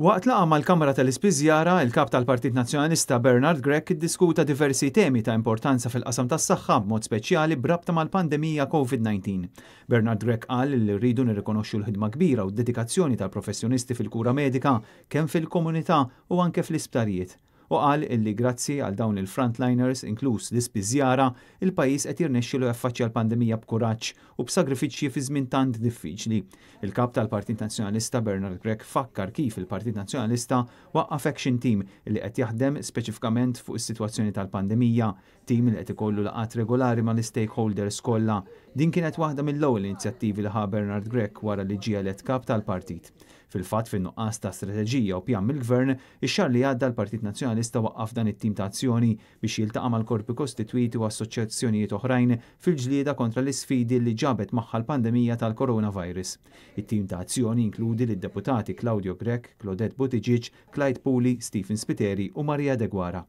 Waqt laqgħa mal-Kamra tal-Ispiżjara, il-Kap tal-Partit Nazzjonalista Bernard Grech iddiskuta diversi temi ta' importanza fil-qasam tas-saħħa b'mod speċjali b'rabta mal-pandemija Covid-19. Bernard Grech qal li rridu nirrikonoxxu l-ħidma kbira u d-dedikazzjoni tal-professjonisti fil-kura medika kemm fil-komunità u anke fl-isptarijiet. U qal illi grazzi għal dawn il-frontliners, inkluż l-ispiżjara, il-pajjiż qed jirnexxilu jaffaċċja l-pandemija b'kuraġġ u b'sagrifiċċji fi żmien tant diffiċli. Il-Kap tal-Partit Nazzjonalista Bernard Grech fakkar kif il-Partit Nazzjonalista waqqaf action team li qed jaħdem speċifikament fuq is-sitwazzjoni tal-pandemija, tim li qed ikollu laqgħat regolari mal-stakeholders kollha. Din kienet waħda mill-ewwel inizjattivi li ħa Bernard Grech wara li ġie elett kap tal-partit. Fil-fatt, fin-nuqqas ta' strateġija u pjan mill-Gvern, ix-xahar li għadda l-Partit Nazzjonalista waqqaf dan it-tim ta' azzjoni biex jiltaqa' mal-korpi kostitwiti u assoċjazzjonijiet oħrajn fil-ġlieda kontra l-isfidi li ġabet magħha l-pandemija tal-coronavirus. It-tim ta' azzjoni jinkludi lid-deputati Claudio Grech, Claudette Buttigieg, Clyde Puli, Stephen Spiteri u Maria Deguara.